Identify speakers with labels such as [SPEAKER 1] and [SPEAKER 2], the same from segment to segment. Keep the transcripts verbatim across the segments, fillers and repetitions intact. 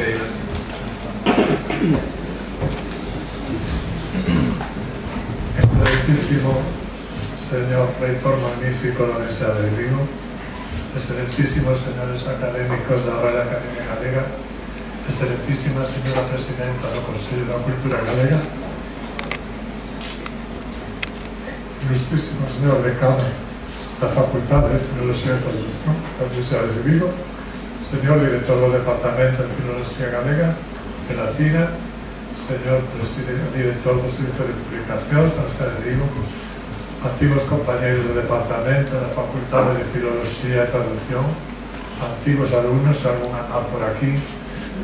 [SPEAKER 1] Junqueiras.
[SPEAKER 2] Excelentísimo señor reitor magnífico da Universidade de Vigo, excelentísimos señores académicos da Real Academia Galega, excelentísima señora presidenta do Consello da Cultura Galega, ilustrísimo señor decano da Facultade de Filoloxía e Traducción da Universidade de Vigo, señor director do Departamento de Filoloxía Galega e Latina, señor director do Servicio de Publicacións da Universidade de Vigo, antigos compañeiros do Departamento da Facultade de Filoloxía e Traducción, antigos alumnos, algún andar por aquí,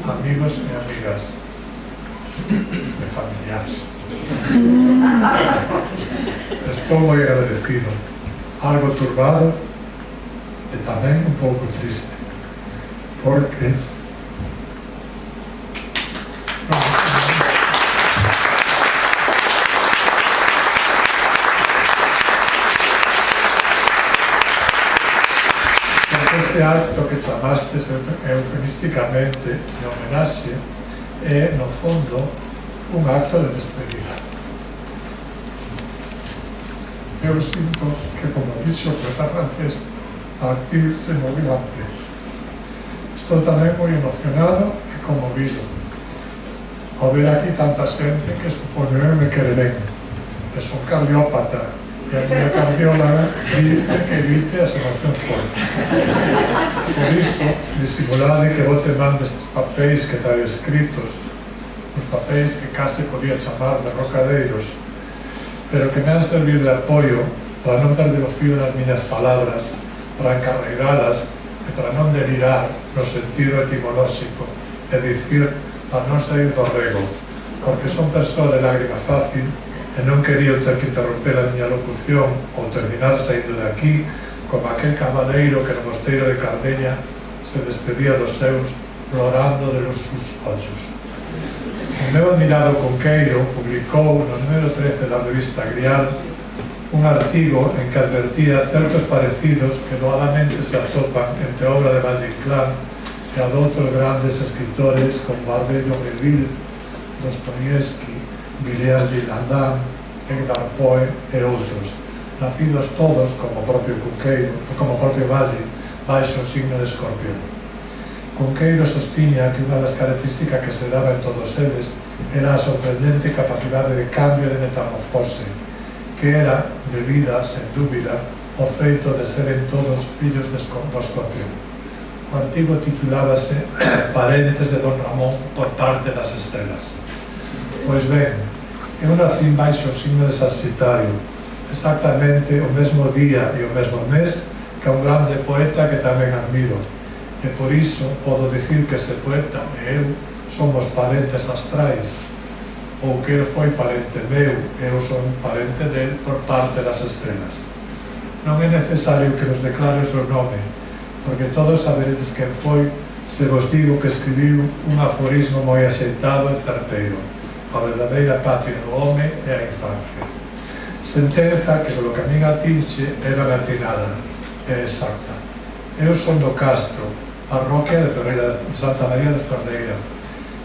[SPEAKER 2] amigos e amigas e familiares. Estou moi agradecido, algo turbado e tamén un pouco triste, porque este acto que chamastes eufemísticamente de homenaxe é, no fondo, un acto de despedida. Eu sinto que, como dixo o poeta francés, partir se moviu amplia. Estou tamén moi emocionado e conmovido ao ver aquí tanta xente que supoño eu me quere ben. E son cardiópata e a miña cardióloga di que evite as emocións fortes. Por iso, disimulade que vou te mande estes papéis que traio escritos, os papéis que case podía chamar de rocadeiros, pero que me han servido de apoio para non perder o fío das miñas palabras, para encarreiralas e para non delirar no sentido etimolóxico, é dicir, para non sair do rego, porque son persoa de lágrima fácil e non quería ter que interromper a miña locución ou terminar saindo de aquí como aquel cabaleiro que no mosteiro de Cardeña se despedía dos seus florando de los sus ollos. O meu admirado Conqueiro publicou no número trece da revista Grial un artigo en que advertía certos parecidos que doadamente se atopan entre a obra de Valle Inclán e a de outros grandes escritores como Barbet de Aurevilly, Dostoievski, Villiers de Landin, Edgar Poe e outros, nacidos todos, como o propio Conqueiro, como o propio Valle, baixo o signo de Escorpión. Conqueiro sostiña que unha das características que se daba en todos eles era a sorprendente capacidade de cambio de metamorfose, que era debida, sen dúbida, ao feito de seren todos fillos do Escorpión. O artigo titulábase Parentes de Don Ramón por parte das estrelas. Pois ben, eu nací baixo o signo de Saxitario, exactamente o mesmo día e o mesmo mes que un grande poeta que tamén admiro, e por iso podo dicir que ese poeta e eu somos parentes astrais, ou que ele foi parente meu e eu son parente del por parte das estrelas. Non é necesario que nos declare o seu nome, porque todos saberedes quen foi se vos digo que escribiu un aforismo moi axeitado e certeiro: a verdadeira patria do home é a infancia. Sentenza que, polo que a min atinxe, era latinada e exacta. Eu son do Castro, parroquia de Ferreira, de Santa María de Ferreira,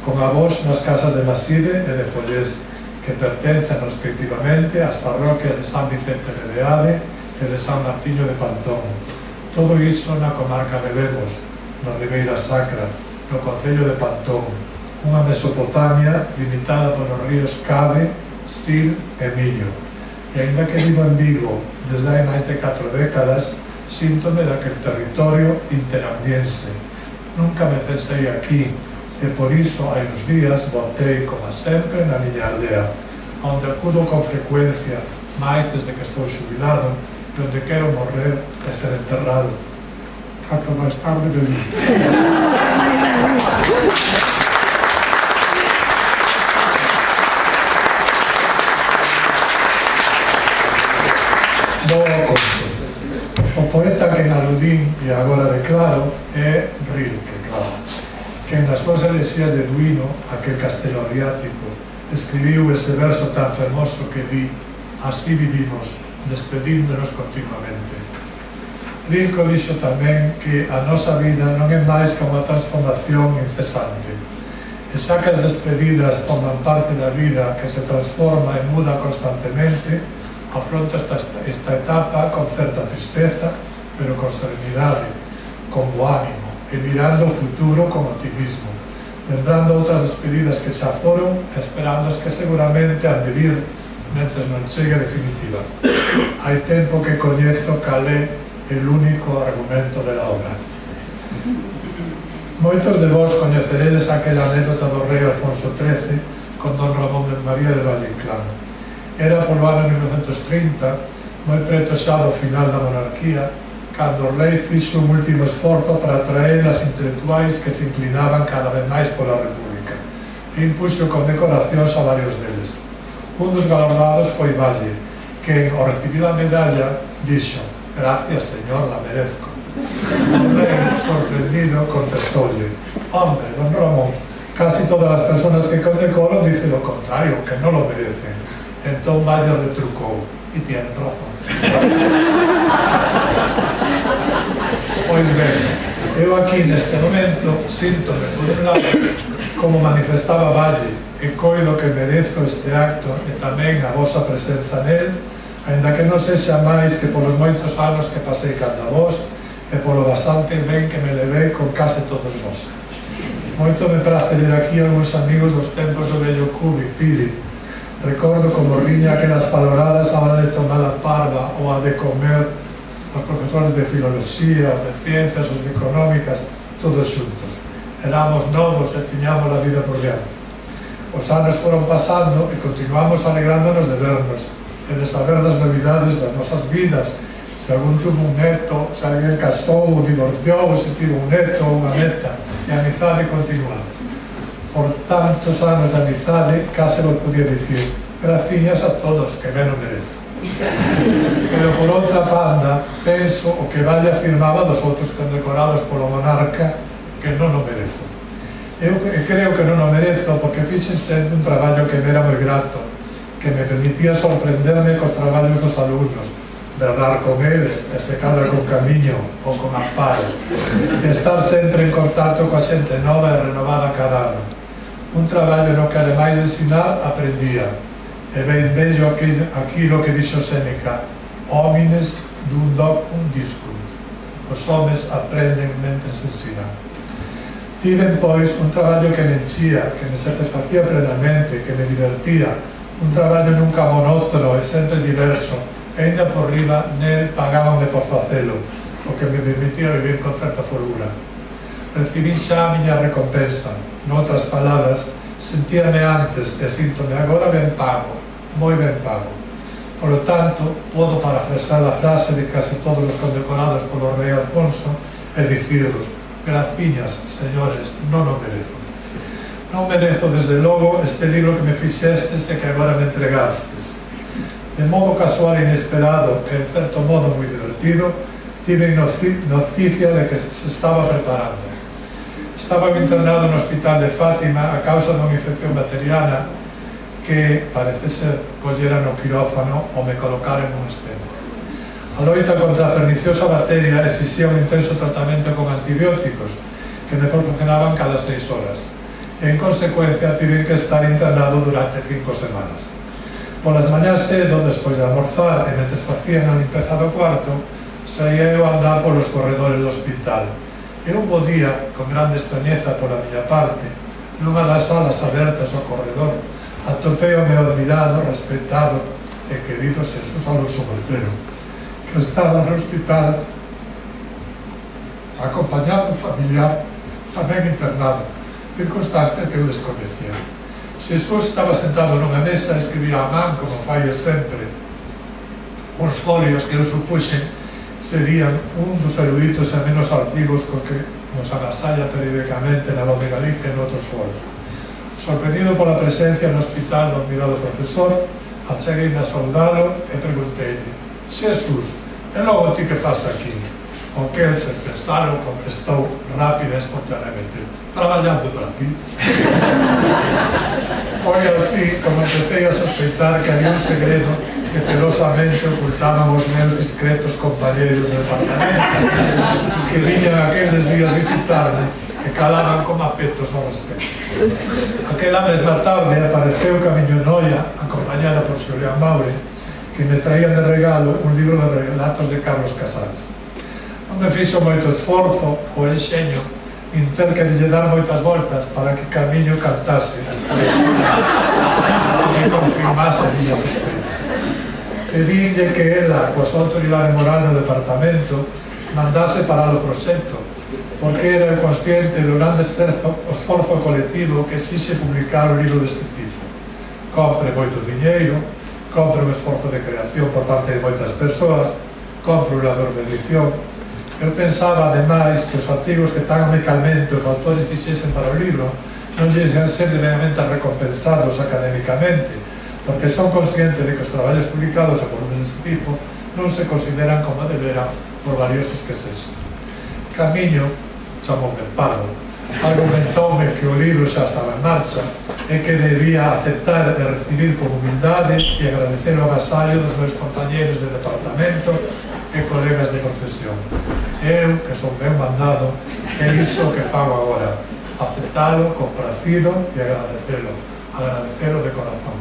[SPEAKER 2] con avós nas casas de Maside e de Follés, que pertencen respectivamente ás parroquias de San Vicente de Deade e de San Martiño de Pantón. Todo iso na comarca de Lemos, na Ribeira Sacra, no concello de Pantón, unha Mesopotamia limitada polos ríos Cabe, Sil e Miño. E aínda que vivo en Vigo desde hai máis de catro décadas, síntome daquel territorio interambiense. Nunca me censei aquí e por iso hai uns días voltei, como sempre, na miña aldea, onde acudo con frecuencia, máis desde que estou xubilado, e onde quero morrer e ser enterrado. Canto máis tarde me digo. O poeta que en aludín e agora declaro é Rilke, claro, que nas súas elexías de Duino, aquel castelo adriático, escribiu ese verso tan fermoso que di: así vivimos, despedíndonos continuamente. Rilke dixo tamén que a nosa vida non é máis que unha transformación incesante, E xa que as despedidas forman parte da vida que se transforma e muda constantemente, afronto esta, esta etapa con certa tristeza, pero con serenidade, con bo ánimo, e mirando o futuro con optimismo, lembrando outras despedidas que xa foron, esperando as que seguramente han de vir, mentre non chegue a definitiva. Hai tempo que coñezo cal é el único argumento de la obra. Moitos de vós coñeceredes aquela anécdota do rei Alfonso trece con don Ramón de María de Valle Inclán. Era polo ano mil novecentos trinta, moi preto xa do final da monarquía, cando o rei fixo un último esforzo para atraer as intelectuais que se inclinaban cada vez máis pola República e impuxo condecoracións a varios deles. Un dos galardoados foi Valle, que ao recibir a medalla dixo: "Gracias, señor, la merezco". O rei, sorprendido, contestólle: "Hombre, don Ramón, casi todas as personas que condecoran dicen lo contrario, que non lo merecen". Entón Valle retrucou: "E tienen razón". Pois ben, eu aquí neste momento síntome, por un lado, como manifestaba Valle, e coido que merezo este acto e tamén a vosa presenza nel, aínda que non sexa máis que polos moitos anos que pasei canda vos e polo bastante ben que me levei con case todos vos. Moito me prace ler aquí algúns amigos dos tempos do vello Cubi, Pili. Recordo como riña aquelas paloradas a hora de tomar a parva ou a de comer os profesores de filoloxía, os de ciencias, os de económicas, todos xuntos. Éramos novos e tiñamos a vida por diante. Os anos foron pasando e continuamos alegrándonos de vernos e de saber das novidades das nosas vidas, se algún tuvo un neto, se alguén casou ou divorciou, se tivo un neto ou unha neta, e a amizade continua. Por tantos anos de amizade, case vos podía dicir: graciñas a todos, que ben o merezo. Pero por outra banda, penso o que Valle afirmaba dos outros condecorados polo monarca, que non o merezo. Eu creo que non o merezo porque fixen sendo un traballo que me era moi grato, que me permitía sorprenderme cos traballos dos alumnos, berrar con eles e se cadra con camiño ou con amparo, e estar sempre en contacto coa xente nova e renovada cada ano. Un traballo no que, ademais de ensinar, aprendía. E ben bello aquilo, aquilo que dixo Séneca: homines dun docum discunt. Os homes aprenden mentres ensinan. Tiven, pois, un traballo que me enchía, que me satisfacía plenamente, que me divertía, un traballo nunca monótono e sempre diverso, e ainda por riba nel pagábanme por facelo, o que me permitía vivir con certa folgura. Recibín xa a miña recompensa, noutras palabras, sentíame antes e síntome agora ben pago, moi ben pago. Por lo tanto, podo parafrasar a frase de case todos os condecorados polo rei Alfonso e dicirlos: graciñas, señores, non o merezo. Non merezo, desde logo, este libro que me fixestes e que agora me entregastes. De modo casual e inesperado, e en certo modo moi divertido, tive noticia de que se estaba preparando. Estaba internado no hospital de Fátima a causa dunha infección bacteriana que, parece ser, collera no quirófano ou me colocaran un estente. A loita contra a perniciosa bacteria exixía un intenso tratamento con antibióticos que me proporcionaban cada seis horas. E, en consecuencia, tive que estar internado durante cinco semanas. Polas mañás cedo, despois de almorzar e mentres facían a limpeza do cuarto, saía eu a andar polos corredores do hospital. E un bo día, con grande extrañeza pola miña parte, nunha das salas abertas ao corredor, atopei o meu admirado, respetado e querido Xesús Alonso Montero, que estaba no hospital acompañado un familiar tamén internado, circunstancia que eu desconocía. Xesús estaba sentado nunha mesa e escribía a man, como fai sempre, uns folios que eu supuxen serían un dos eruditos e menos artigos cos que nos agasalla periódicamente na Voz de Galicia e noutros foros. Sorprendido pola presencia no hospital do admirado profesor, acheguei a saudalo e pregunteille: Xesús, e logo ti que faz aquí? O que el, sen pensalo, contestou rápida e espontaneamente: traballando para ti. Foi así como empecé a sospeitar que había un segredo que celosamente ocultaban os meus discretos compañeros de departamento que viñan aqueles días visitarme e calaban como apetos ao respecto. Aquela mesma tarde apareceu Camiño Noia, acompañada por Xulián Maure, que me traían de regalo un libro de relatos de Carlos Casares. Non me fixo moito esforzo o enxeño en ter que lle dar moitas voltas para que Camiño cantase e confirmase a miña sospeita. Pedinlle que ela, coa súa autoridade moral no departamento, mandase parar o proxecto, porque era consciente do grande esforzo, esforzo colectivo que exixe publicar un libro deste tipo. Compre moito diñeiro, compre un esforzo de creación por parte de moitas persoas, compre un labor de edición. Eu pensaba, ademais, que os artigos que tan amicalmente os autores fixesen para o libro non lles ian ser debidamente recompensados académicamente, porque son conscientes de que os traballos publicados a volumes deste tipo non se consideran como deberan por valiosos que sexan. Camiño chamoume parvo, argumentoume que o libro xa estaba en marcha e que debía aceptar e recibir con humildade e agradecer o agasallo dos meus compañeros de departamento e colegas de profesión. Eu, que son ben mandado, é iso que fago agora, aceptalo, compracido e agradecelo, agradecelo de corazón.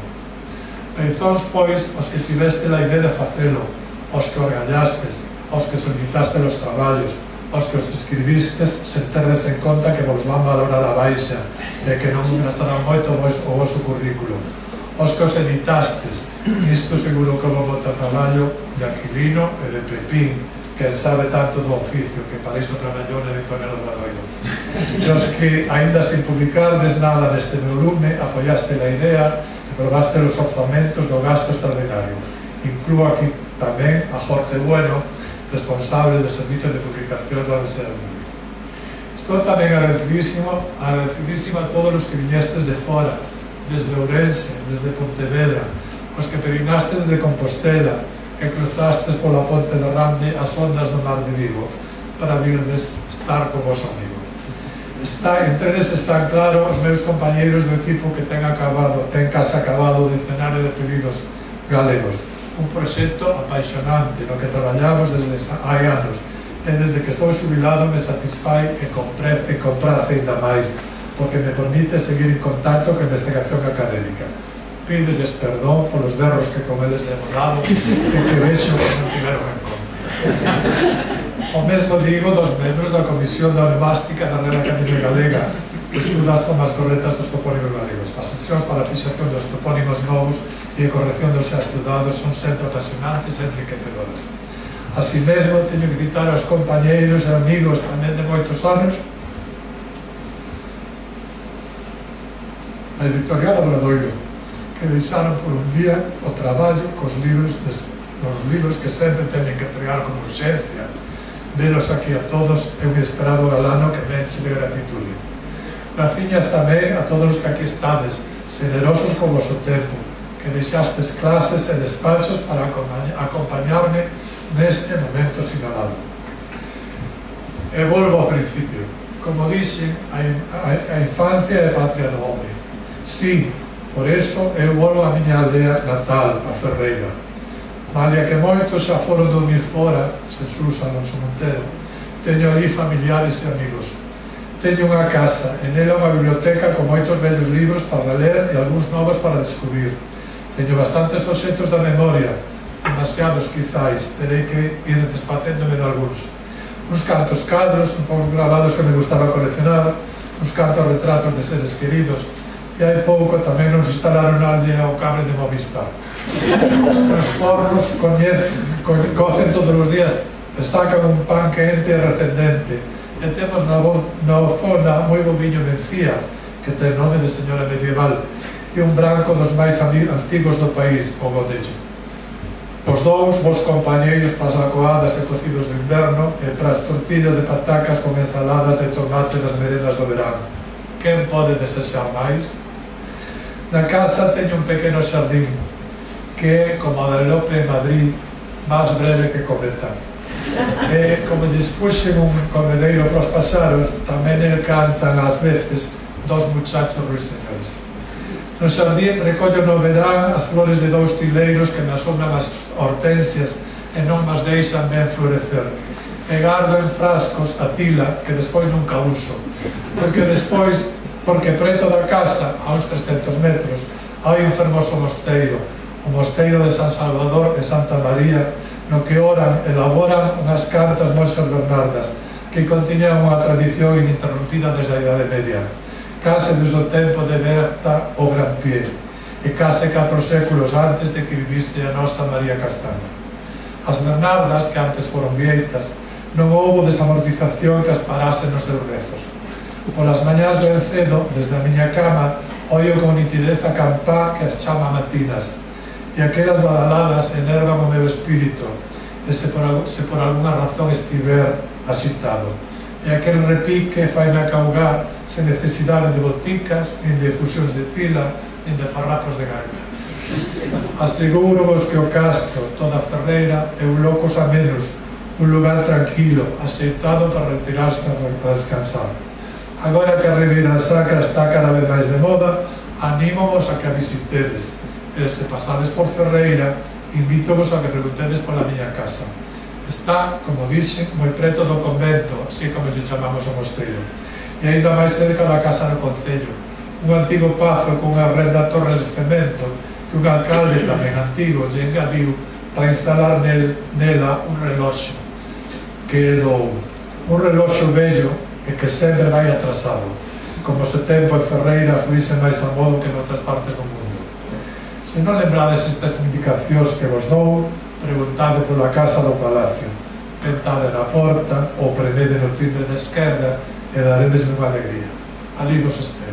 [SPEAKER 2] Pensóns, pois, os que tiveste a idea de facelo, os que orgallastes, os que solicitaste os traballos, os que os escribistes sen terdes en conta que vos van valorar a baixa e que non gastarán moito o vosso currículo, os que os editastes, isto seguro que vos bota traballo de Aquilino e de Pepín, que sabe tanto do oficio, que para iso traballou na editorial Obradoiro. E os que, aínda sin publicardes nada neste meu lume, apoiaste a idea e probaste os orzamentos do gasto extraordinario. Inclúo aquí tamén a Jorge Bueno, responsable do Servicio de Publicacións da Universidade Pública. Estou tamén agradecidísimo, agradecidísimo a todos os que viñestes de fora, desde Ourense, desde Pontevedra, os que peregrinastes desde Compostela e cruzastes pola Ponte de Rande as ondas do Mar de Vigo para virdes estar con vos amigo. Está, entre eles están claro os meus compañeiros do equipo que ten acabado, ten case acabado o Dicionario de Apelidos Galegos, un proxecto apaixonante no que traballamos desde hai anos e desde que estou xubilado me satisfai e comprace ainda máis porque me permite seguir en contacto con a investigación académica. Pídelles perdón polos berros que con eles demorado e que vexo que non tiveron en conta. O mesmo digo dos membros da Comisión da Onomástica da Real Academia Galega que estuda as formas correctas dos topónimos galegos. As sesións para a fixación dos topónimos novos e a corrección dos xa estudados son sempre apasionantes e enriquecedoras. Así mesmo, teño que citar aos compañeiros e amigos tamén de moitos anos a editorial Obradoiro, que deixaron por un día o traballo cos libros, os libros que sempre teñen que entregar con urxencia. Velos aquí a todos é un esperado galano que me enche de gratitude. Graciñas tamén a todos os que aquí estades, generosos con vosso tempo, que deixastes clases e despachos para acompañarme neste momento sinalado. E volvo ao principio. Como dixen, a infancia é patria do home. Sí, por eso eu volvo á miña aldea natal, a Ferreira. Malia que moitos xa foron dormir fora, Jesús Alonso Montero, teño ali familiares e amigos. Teño unha casa, e nela unha biblioteca con moitos vellos libros para ler e algúns novos para descubrir. Teño bastantes obxectos da memoria, demasiados quizáis, terei que ir desfacéndome de algúns. Uns cantos cadros, uns poucos gravados que me gustaba coleccionar, uns cantos retratos de seres queridos, e hai pouco tamén nos instalaron na aldea o cable de Movistar. Os porros cocen todos os días e sacan un pan quente e recendente, e temos na, na zona moi boviño Mencía, que ten nome de señora medieval, e un branco dos máis antigos do país, o Godello. Os dous, vos compañeiros para as acoadas e cocidos do inverno e para as tortillas de patacas con ensaladas de tomate das merendas do verano. Quen pode desexar máis? Na casa teño un pequeno xardín, que é, como a de Lope en Madrid, máis breve que cometa. E, como lles puxen un comedeiro para os paxaros, tamén el cantan ás veces dos muchachos ruiseñores. No xardín recollo no verán as flores de dous tileiros que me asombran as hortensias e non mas deixan ben florecer. E gardo en frascos a tila que despois nunca uso, porque despois, porque preto da casa, a uns trescentos metros, hai un fermoso mosteiro, o mosteiro de San Salvador e Santa María, no que oran, elaboran unhas cartas monxas bernardas que contiñan unha tradición ininterrompida desde a Idade Media, case desde o tempo de Berta o Gran Pie, e case catro séculos antes de que vivise a nosa María Castaña. As bernardas, que antes foron vieitas, non houbo desamortización que as parase nos seus rezos. Polas mañás ben cedo, desde a miña cama, oio con nitidez a campá que as chama matinas, e aquelas badaladas enervan o meu espírito, e se por, se por alguna razón estiver axitado. E aquel repique faime acaugar sen necesidade de boticas, nin de fusións de tila, nin de farrapos de gaita. Aseguro-vos que o castro, toda a Ferreira, é un locos a menos, un lugar tranquilo, aceitado para retirarse a descansar. Agora que a Ribeira Sacra está cada vez máis de moda, anímos a que a visitedes. E se pasades por Ferreira, invítovos a que preguntedes pola miña casa. Está, como dixen, moi preto do convento, así como lle chamamos o mosteiro, e aínda máis cerca da casa do concello, un antigo pazo con unha renda torre de cemento que un alcalde tamén antigo lle engadiu para instalar nel, nela un reloxo que herdou, un reloxo bello e que sempre vai atrasado, como se tempo en Ferreira fluise máis a modo que noutras partes do mundo. Se non lembrades estas indicacións que vos dou, preguntade pola casa do palacio, tentade na porta ou premede no timbre da esquerda e daredes unha alegría. Ali vos espero.